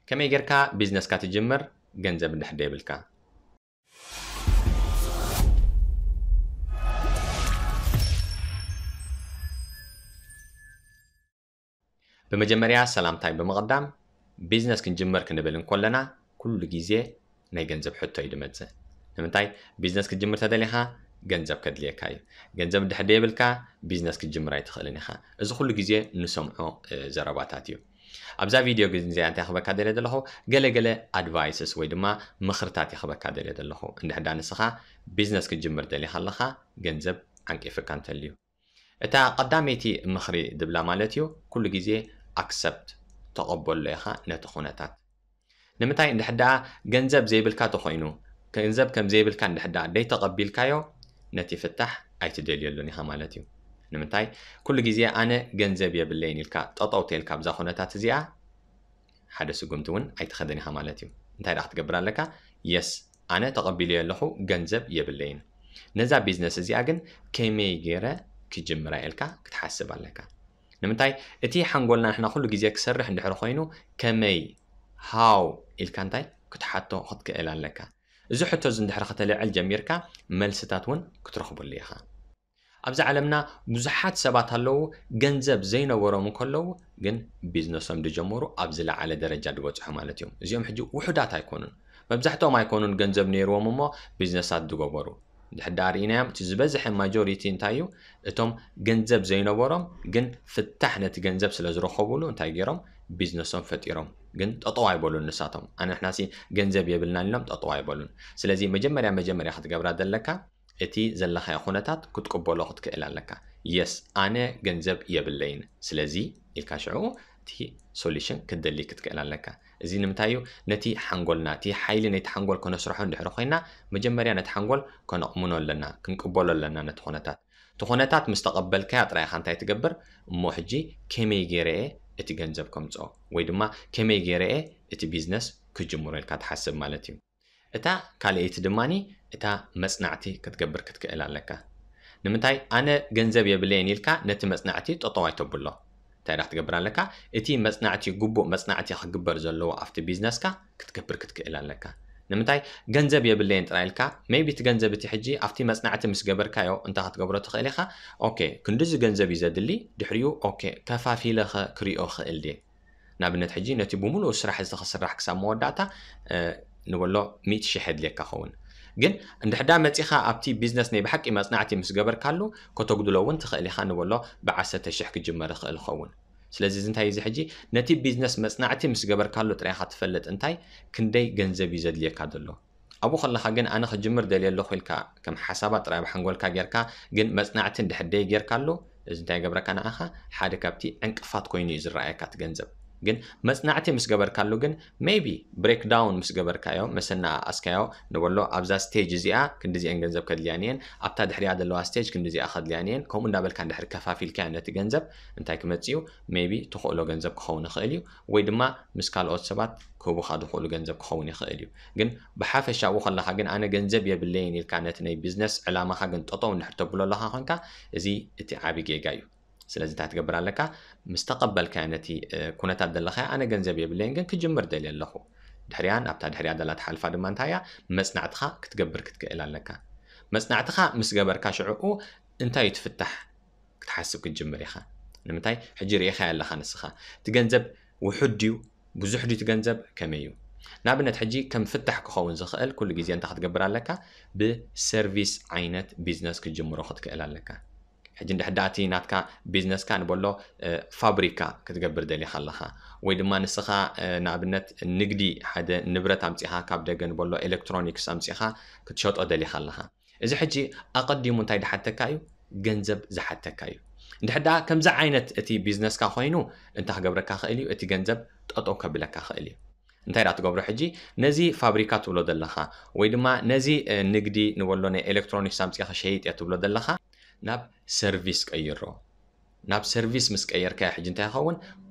ከመይ ጌርካ ቢዝነስካ ትጅምር ገንዘብ እንድሕር ደይብልካ? ብመጀመርያ ሰላምታይ ብምቕዳም፣ ቢዝነስ ክንጅምር ክንብል እንኮለና ኩሉ ግዜ ናይ ገንዘብ ሕቶ እዩ ድመጽእ። ንምንታይ? ቢዝነስ ክትጅምር ተደሊኻ ገንዘብ ከድልየካ እዩ። ገንዘብ እንድሕር ደየብልካ ቢዝነስ ክትጅምር ኣይትኽእልን ኢኻ። እዚ ኩሉ ግዜ ንሰምዖ ዘረባታት እዩ። ኣብዛ ቪድዮ ግን እዚኣ እንታይ ክበካ ደልየ ዘለኹ፣ ገለ ገለ ኣድቫይስስ ወይ ድማ ምኽርታት ይኽበካ ደልየ ዘለኹ። እንድሕዳ ንስኻ ቢዝነስ ክትጅምር ደሊኻ ኣለኻ፣ ገንዘብ ዓንቂፍካ እንተልዩ፣ እታ ቀዳመይቲ ምኽሪ ድብላ ማለት እዩ፣ ኩሉ ግዜ ኣክሰፕት፣ ተቐበሎ ኢኻ ነቲ ኩነታት። ንምንታይ? እንድሕዳ ገንዘብ ዘይብልካ ተኾይኑ፣ ገንዘብ ከም ዘይብልካ እንድሕዳ ደይተቐቢልካዮ፣ ነቲ ፍታሕ ኣይትደልየሉን ኢኻ ማለት እዩ። ንምንታይ? ኩሉ ግዜ ኣነ ገንዘብ የብለይን ኢልካ ጠጠው ተልካ ኣብዛ ኩነታት እዚኣ፣ ሓደ ስጉምቲ እውን ኣይትኸደን ኢኻ ማለት እዩ። እንታይ ደኣ ክትገብር ኣለካ? የስ፣ ኣነ ተቐቢለዮ ኣለኹ፣ ገንዘብ የብለይን። ነዛ ቢዝነስ እዚኣ ግን ከመይ ገይረ ክጅምራ ኢልካ ክትሓስብ ኣለካ። ንምንታይ? እቲ ሓንጎልና ንሕና ኩሉ ግዜ ክሰርሕ እንድሕር ኮይኑ፣ ከመይ፣ ሃው ኢልካ እንታይ ክትሓቶ ክትክእል ኣለካ። እዚ ሕቶ እዚ እንድሕር ከተልዕል ጀሚርካ፣ መልስታት እውን ክትረኽበሉ ኢኻ። ኣብዚ ዓለምና ብዙሓት ሰባት ኣለዉ፣ ገንዘብ ዘይነበሮም እንከለዉ ግን ቢዝነሶም ዝጀመሩ ኣብ ዝለዓለ ደረጃ ዝበጽሑ ማለት እዮም። እዚኦም ሕጂ ውሑዳት ኣይኮኑን። መብዛሕትኦም ኣይኮኑን ገንዘብ ነይርዎም እሞ ቢዝነሳት ዝገበሩ። እንድሕር ደኣ ርኢናዮም፣ እቲ ዝበዝሐ ማጆሪቲ እንታይ እዩ? እቶም ገንዘብ ዘይነበሮም ግን ፍታሕ ነቲ ገንዘብ ስለ ዝረኸቡሉ እንታይ ገይሮም? ቢዝነሶም ፈጢሮም። ግን ጠጠው ኣይበሉን ንሳቶም። ኣነ ንሕናሲ ገንዘብ የብልናን ኢሎም ጠጠው ኣይበሉን። ስለዚ መጀመርያ መጀመርያ ክትገብራ ዘለካ እቲ ዘለኻዮ ኩነታት ክትቅበሎ ክትክእል ኣለካ። የስ፣ ኣነ ገንዘብ የብለይን፣ ስለዚ ኢልካ ሽዑ እቲ ሶሉሽን ክትደሊ ክትክእል ኣለካ። እዚ ንምንታይ እዩ? ነቲ ሓንጎልና፣ እቲ ሓይሊ ነቲ ሓንጎል ከነስርሖ እንድሕር ኮይና፣ መጀመርያ ነቲ ሓንጎል ከነቕምኖ ኣለና፣ ክንቅበሎ ኣለና ነቲ ኩነታት። እቲ ኩነታት ምስ ተቐበልካያ ጥራይ ኢኻ እንታይ ትገብር? እሞ ሕጂ ከመይ ገይረ እየ እቲ ገንዘብ ከምፅኦ? ወይ ድማ ከመይ ገይረ እየ እቲ ቢዝነስ ክጅምሮ ኢልካ ትሓስብ ማለት እዩ። እታ ካልኣይቲ ድማኒ እታ መጽናዕቲ ክትገብር ክትክእል ኣለካ። ንምንታይ? ኣነ ገንዘብ የብለይን ኢልካ ነቲ መጽናዕቲ ጠጠው ኣይተብሎ። እንታይ ደኣ ክትገብር ኣለካ? እቲ መጽናዕቲ፣ ግቡእ መጽናዕቲ ክግበር ዘለዎ ኣብቲ ቢዝነስካ ክትገብር ክትክእል ኣለካ። ንምንታይ? ገንዘብ የብለይን ጥራይ ኢልካ፣ ሜይቢ እቲ ገንዘብ እቲ ሕጂ ኣብቲ መጽናዕቲ ምስ ገበርካዮ እንታይ ክትገብሮ ትኽእል ኢኻ? ኦኬ፣ ክንድዚ ገንዘብ እዩ ዘድሊ፣ ድሕሪኡ ኦኬ፣ ከፋፊለ ኸ ክሪኦ ክእል ድየ? ንኣብነት ሕጂ ነቲ ብምሉኡ ስራሕ እዚ ክስራሕ ክሳብ መወዳእታ፣ እ፣ ንበሎ ሚእቲ ሽሕ የድልየካ ኸውን። ግን እንድሕዳ መጺኻ ኣብቲ ቢዝነስ ናይ ብሓቂ መጽናዕቲ ምስ ገበርካሉ ከተጉድሎ እውን ትኽእል ኢኻ፣ ንበሎ ብዓሰርተ ሽሕ ክጅመር ይኽእል ይኸውን። ስለዚ እዚ እንታይ እዩ እዚ ሕጂ? ነቲ ቢዝነስ መጽናዕቲ ምስ ገበርካሉ ጥራይ ኢኻ ትፈልጥ እንታይ ክንደይ ገንዘብ እዩ ዘድልየካ ዘሎ። ኣብኡ ከለኻ ግን ኣነ ክጅምር ደልየ ኣለኹ ኢልካ ከም ሓሳባት ጥራይ ኣብ ሓንጎልካ ጌርካ ግን መጽናዕቲ እንድሕር ደይ ጌርካሉ፣ እዚ እንታይ ይገብረካ ንዓኻ? ሓደ ካብቲ ዕንቅፋት ኮይኑ እዩ ዝረኣየካ እቲ ገንዘብ። ግን መጽናዕቲ ምስ ገበርካሉ ግን ሜይቢ ብሬክዳውን ምስ ገበርካዮ፣ መሰናኣስካዮ፣ ንበሎ ኣብዛ ስቴጅ እዚኣ ክንድዚአን ገንዘብ ከድልያን እየን፣ ኣብታ ድሕሪኣ ዘለዋ ስቴጅ ክንድዚኣ ከድልያን እየን፣ ከምኡ እንዳበልካ እንድሕር ከፋፊልካዮ ነቲ ገንዘብ እንታይ ክመጽእ እዩ? ሜይቢ ትኽእሎ ገንዘብ ክኸውን ይኽእል እዩ፣ ወይ ድማ ምስ ካልኦት ሰባት ክህቡኻ ዝኽእሉ ገንዘብ ክኸውን ይኽእል እዩ። ግን ብሓፈሻኡ ከለኻ ግን ኣነ ገንዘብ የብለይን ኢልካ ነቲ ናይ ቢዝነስ ዕላማኻ ግን ጠጠው እንድሕር ተብሎ ኣለኻ ኮንካ፣ እዚ እቲ ዓቢ ጌጋ እዩ። ስለዚ እንታይ ትገብር ኣለካ? ምስ ተቐበልካዮ ነቲ፣ እ፣ ኩነታት ዘለኻዮ፣ ኣነ ገንዘብ የብለይን ግን ክጅምር ደልየ ኣለኹ። ድሕሪኣ፣ ኣብታ ድሕሪኣ ዘላ ትሓልፋ ድማ እንታይ እያ? መጽናዕትኻ ክትገብር ክትክእል ኣለካ። መጽናዕትኻ ምስ ገበርካ ሽዕኡ እንታይ እዩ ትፍታሕ ክትሓስብ ክትጅምር ኢኻ። ንምንታይ? ሕጂ ርኢኻዮ ኣለኻ ንስኻ። እቲ ገንዘብ ውሑድ ድዩ? ብዙሕ ድዩ እቲ ገንዘብ? ከመይ እዩ? ንኣብነት ሕጂ ከም ፍታሕ ክኸውን ዝኽእል ኩሉ ግዜ እንታይ ክትገብር ኣለካ? ብሰርቪስ ዓይነት ቢዝነስ ክትጅምሮ ክትክእል ኣለካ። ሕጂ እንድሕር ደኣ እቲ ናትካ ቢዝነስካ ንበሎ፣ እ፣ ፋብሪካ ክትገብር ደሊኻ ኣለኻ። ወይ ድማ ንስኻ፣ እ፣ ንኣብነት ንግዲ ሓደ ንብረት ኣምጺኻ ካብ ደገ ንበሎ ኤሌክትሮኒክስ ኣምጺኻ ክትሸጦ ደሊኻ ኣለኻ። እዚ ሕጂ ኣቐዲሙ እንታይ ዝሓተካ እዩ? ገንዘብ ዝሓተካ እዩ። እንድሕር ደኣ ከምዚ ዓይነት እቲ ቢዝነስካ ኮይኑ እንታይ ክገብረካ ክእል እዩ? እቲ ገንዘብ ጠጠው ከብለካ ክእል እዩ። እንታይ ደኣ ትገብሮ ሕጂ? ነዚ ፋብሪካ ትብሎ ዘለኻ ወይ ድማ ነዚ፣ እ፣ ንግዲ ንበሎ ናይ ኤሌክትሮኒክስ ኣምጺኻ ሸይጥ እየ ትብሎ ዘለኻ ናብ ሰርቪስ ቀይሮ። ናብ ሰርቪስ ምስ ቀየርካዮ ሕጂ እንታይ ይኸውን?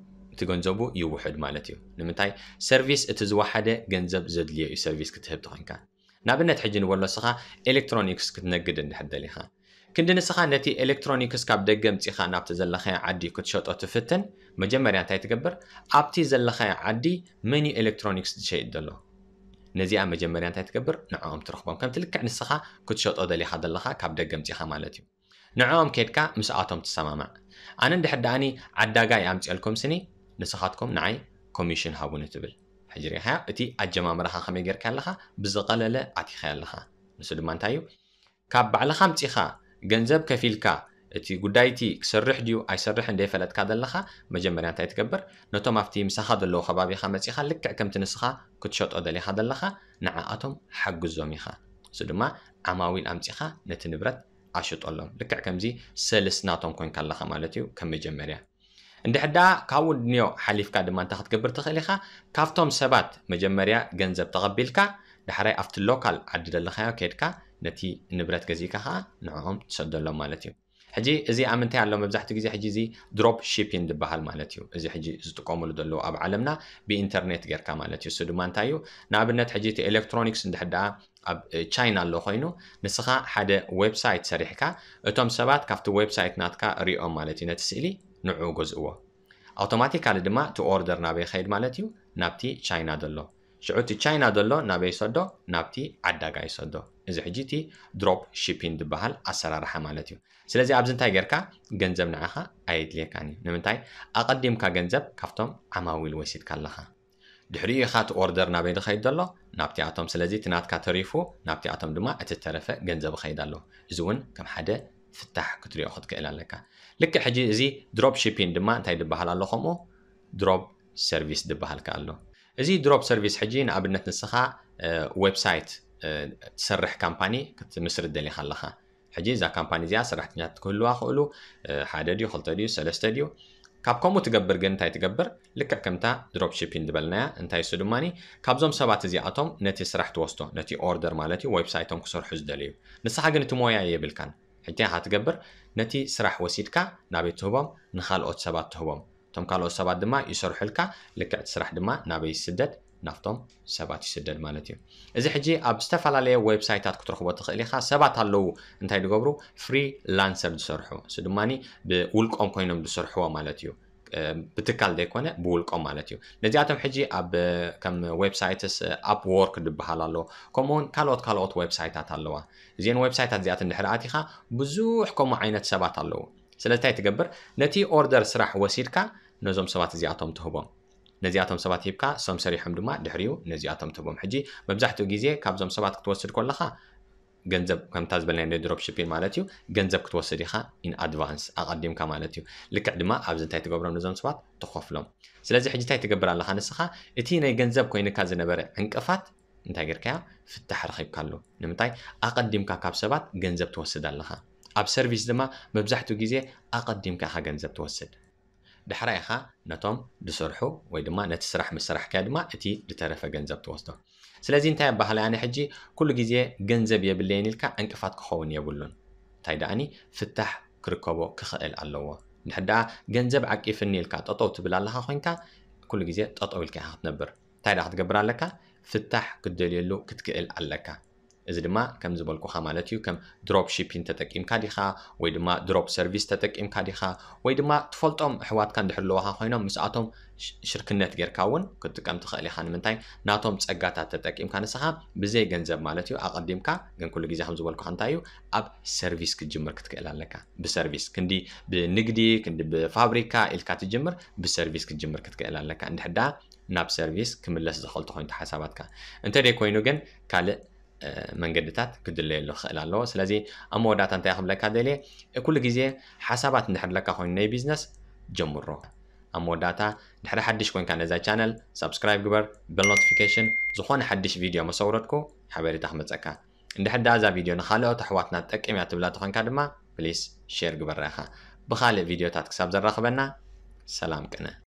እቲ ገንዘቡ ይውሕድ ማለት እዩ። ንምንታይ? ሰርቪስ እቲ ዝወሓደ ገንዘብ ዘድልዮ እዩ ሰርቪስ ክትህብ ተኾይንካ። ንኣብነት ሕጂ ንበሎ ንስኻ ኤሌክትሮኒክስ ክትነግድ እንድሕር ደሊኻ፣ ክንዲ ንስኻ ነቲ ኤሌክትሮኒክስ ካብ ደገ ኣምጺኻ ናብቲ ዘለኻዮ ዓዲ ክትሸጦ ትፍትን፣ መጀመርያ እንታይ ትገብር? ኣብቲ ዘለኻዮ ዓዲ መን እዩ ኤሌክትሮኒክስ ዝሸይጥ ዘሎ? ነዚኣ መጀመርያ እንታይ ትገብር? ንዕኦም ትረኽቦም። ከምቲ ልክዕ ንስኻ ክትሸጦ ደሊኻ ዘለኻ ካብ ደገ ኣምጺኻ ማለት እዩ። ንዕኦም ኬድካ ምስኣቶም ትሰማማዕ። ኣነ እንድሕር ደኣኒ ዓዳጋይ ኣምጺኣልኩም ስኒ፣ ንስኻትኩም ንዓይ ኮሚሽን ሃቡኒ ትብል። ሕጂ ርኢኻዮ፣ እቲ ኣጀማምራኻ ከመይ ጌርካ ኣለኻ? ብዝቐለለ ኣቲኻ ኣለኻ። ንሱ ድማ እንታይ እዩ? ካብ ባዕልኻ ኣምጺኻ ገንዘብ ከፊልካ እቲ ጉዳይቲ ክሰርሕ ድዩ ኣይሰርሕን ደይፈለጥካ ዘለኻ፣ መጀመርያ እንታይ ትገብር? ነቶም ኣብቲ ምሳኻ ዘለዉ ከባቢኻ መጺኻ ልክዕ ከምቲ ንስኻ ክትሸጦ ደሊኻ ዘለኻ ንዓኣቶም ሓግዞም ኢኻ። እሱ ድማ ዓማዊል ኣምጺኻ ነቲ ንብረት ኣሽጠሎም። ልክዕ ከምዚ ሰልስ ናቶም ኮንካ ኣለኻ ማለት እዩ ከም መጀመርያ። እንድሕር ደኣ ካብኡ ድንዮ ሓሊፍካ ድማ እንታይ ክትገብር ትኽእል ኢኻ? ካብቶም ሰባት መጀመርያ ገንዘብ ተቐቢልካ፣ ዳሕራይ ኣብቲ ሎካል ዓዲ ዘለኻዮ ኬድካ ነቲ ንብረት ገዚእካ ኸዓ ንዕኦም ትሰደሎም ማለት እዩ። ሕጂ እዚ ኣብ ምንታይ ኣሎ? መብዛሕትኡ ግዜ ሕጂ እዚ ድሮፕ ሺፒንግ ዝበሃል ማለት እዩ። እዚ ሕጂ ዝጥቀሙሉ ዘለዉ ኣብ ዓለምና ብኢንተርኔት ጌርካ ማለት እዩ። እሱ ድማ እንታይ እዩ? ንኣብነት ሕጂ እቲ ኤሌክትሮኒክስ እንድሕር ደኣ ኣብ ቻይና ኣሎ ኮይኑ፣ ንስኻ ሓደ ዌብሳይት ሰሪሕካ፣ እቶም ሰባት ካብቲ ዌብሳይት ናትካ ሪኦም ማለት እዩ ነቲ ስእሊ፣ ንዕኡ ገዝእዎ። ኣውቶማቲካሊ ድማ እቲ ኦርደር ናበይ ይኸይድ ማለት እዩ? ናብቲ ቻይና ዘሎ። ሽዑ እቲ ቻይና ዘሎ ናበይ ይሰዶ? ናብቲ ዓዳጋ ይሰዶ። እዚ ሕጂ እቲ ድሮፕ ሺፒንግ ዝበሃል ኣሰራርሓ ማለት እዩ። ስለዚ ኣብዚ እንታይ ጌርካ? ገንዘብ ንዓኻ ኣየድልየካን እዩ። ንምንታይ? ኣቐዲምካ ገንዘብ ካብቶም ዓማዊል ወሲድካ ኣለኻ። ድሕሪኡ ኢኻ እቲ ኦርደር ናበይ ዝኸይድ ዘሎ? ናብቲኣቶም። ስለዚ እቲ ናትካ ተሪፉ፣ ናብቲኣቶም ድማ እቲ ተረፈ ገንዘብ ይኸይድ ኣሎ። እዚ እውን ከም ሓደ ፍታሕ ክትሪኦ ክትክእል ኣለካ። ልክዕ ሕጂ እዚ ድሮፕ ሺፒንግ ድማ እንታይ ዝበሃል ኣሎ? ከምኡ ድሮፕ ሰርቪስ ዝበሃል ከ ኣሎ። እዚ ድሮፕ ሰርቪስ ሕጂ ንኣብነት ንስኻ፣ እ፣ ዌብሳይት፣ እ፣ ትሰርሕ ካምፓኒ ክትምስርት ደሊኻ ኣለኻ። ሕጂ እዛ ካምፓኒ እዚኣ ሰራሕተኛታት ክህልዋ ክእሉ፣ እ፣ ሓደ ድዩ፣ ክልተ ድዩ፣ ሰለስተ ድዩ? ካብ ከምኡ ትገብር ግን እንታይ ትገብር? ልክዕ ከምታ ድሮፕ ሺፒንግ ዝበልናያ፣ እንታይ እሱ ድማኒ ካብዞም ሰባት እዚኣቶም ነቲ ስራሕ ትወስዶ፣ ነቲ ኦርደር ማለት እዩ፣ ዌብሳይቶም ክሰርሑ ዝደለዩ። ንስኻ ግን እቲ ሞያ የብልካን። ሕጂ ኢኻ ትገብር፣ ነቲ ስራሕ ወሲድካ ናበይ ትህቦም? ንኻልኦት ሰባት ትህቦም። እቶም ካልኦት ሰባት ድማ ይሰርሑልካ፣ ልክዕ እቲ ስራሕ ድማ ናበይ ይስደድ? ናብቶም ሰባት ይስደድ ማለት እዩ። እዚ ሕጂ ኣብ ዝተፈላለየ ዌብሳይታት ክትረኽቦ ትኽእል ኢኻ። ሰባት ኣለዉ እንታይ ዝገብሩ? ፍሪላንሰር ዝሰርሑ። እሱ ድማኒ ብውልቆም ኮይኖም ዝሰርሕዎ ማለት እዩ። እ፣ ብትካል ዘይኮነ ብውልቆም ማለት እዩ። ነዚኣቶም ሕጂ ኣብ፣ ከም ዌብሳይትስ፣ ኣፕ ወርክ ዝበሃል ኣሎ። ከምኡውን ካልኦት ካልኦት ዌብሳይታት ኣለዋ። እዚአን ዌብሳይታት እዚኣተን ድሕሪ ኣቲኻ ብዙሕ ከምኡ ዓይነት ሰባት ኣለዉ። ስለዚ እንታይ ትገብር? ነቲ ኦርደር ስራሕ ወሲድካ ነዞም ሰባት እዚኣቶም ትህቦም። ነዚኣቶም ሰባት ሂብካ፣ እሶም ሰሪሖም ድማ ድሕሪኡ ነዚኣቶም ትህቦም። ሕጂ መብዛሕትኡ ግዜ ካብዞም ሰባት ክትወስድ ከለኻ ገንዘብ፣ ከምታ ዝበልናዮ ናይ ድሮፕ ሺፒንግ ማለት እዩ፣ ገንዘብ ክትወስድ ኢኻ ኢን ኣድቫንስ፣ ኣቐዲምካ ማለት እዩ። ልክዕ ድማ ኣብዚ እንታይ ትገብሮም ነዞም ሰባት? ትኸፍሎም። ስለዚ ሕጂ እንታይ ትገብር ኣለኻ ንስኻ? እቲ ናይ ገንዘብ ኮይንካ ዝነበረ ዕንቅፋት እንታይ ጌርካዮ? ፍታሕ ረኺብካሉ። ንምንታይ? ኣቐዲምካ ካብ ሰባት ገንዘብ ትወስድ ኣለኻ። ኣብ ሰርቪስ ድማ መብዛሕትኡ ግዜ ኣቐዲምካ ኢኻ ገንዘብ ትወስድ። ዳሕራይ ኢኻ ነቶም ዝሰርሑ ወይ ድማ ነቲ ስራሕ ምስ ሰራሕካዮ ድማ እቲ ዝተረፈ ገንዘብ ትወስዶ። ስለዚ እንታይ ኣባህላይ ኣነ ሕጂ ኩሉ ግዜ ገንዘብ የብለይን ኢልካ ዕንቅፋት ክኸውን የብሉን። እንታይ ደኣኒ ፍታሕ ክርከቦ ክኽእል ኣለዎ። እንድሕር ደኣ ገንዘብ ዓቂፍኒ ኢልካ ጠጠው ትብል ኣለኻ ኮይንካ ኩሉ ግዜ ጠጠው ኢልካ ኢኻ ክትነብር። እንታይ ደኣ ክትገብር ኣለካ? ፍታሕ ክትደልየሉ ክትክእል ኣለካ። እዚ ድማ ከም ዝበልኩኻ ማለት እዩ፣ ከም ድሮፕ ሺፒንግ ተጠቂምካ ዲኻ ወይ ድማ ድሮፕ ሰርቪስ ተጠቂምካ ዲኻ ወይ ድማ ትፈልጦም ኣሕዋትካ እንድሕር ኣለዋኻ ኮይኖም ምስኣቶም ሽ-፣ ሽርክነት ጌርካ እውን ክትጥቀም ትኽእል ኢኻ። ንምንታይ? ናቶም ጸጋታት ተጠቂምካ ንስኻ ብዘይ ገንዘብ ማለት እዩ። ኣቐዲምካ ግን ኩሉ ግዜ ከም ዝበልኩኻ እንታይ እዩ? ኣብ ሰርቪስ ክትጅምር ክትክእል ኣለካ። ብሰርቪስ ክንዲ ብንግዲ ክንዲ ብፋብሪካ ኢልካ ትጅምር፣ ብሰርቪስ ክትጅምር ክትክእል ኣለካ። እንድሕር ደኣ ናብ ሰርቪስ ክምለስ ዝኽእል ተኾይኑ ሓሳባትካ። እንተ ደይ ኮይኑ ግን ካልእ፣ እ፣ መንገድታት ክድለየሉ ክኽእል ኣለዎ። ስለዚ ኣብ መወዳእታ እንታይ ክብለካ ደልየ፣ ኩሉ ግዜ ሓሳባት እንድሕር ኣለካ ኮይኑ ናይ ቢዝነስ ጀምሮ። ኣብ መወዳእታ ድሕሪ ሓድሽ ኮንካ ነዛ ቻነል ሳብስክራይብ ግበር፣ በል ኖቲፊኬሽን፣ ዝኾነ ሓድሽ ቪድዮ መሰውረድኩ ሓበሬታ ክመጸካ። እንድሕር ደኣ እዛ ቪድዮ ንኻልኦት ኣሕዋትና ትጠቅም እያ ትብላ ተኾንካ ድማ ፕሊስ ሼር ግበራ ኢኻ። ብኻልእ ቪድዮታት ክሳብ ዘራኽበና ሰላም ቅነ።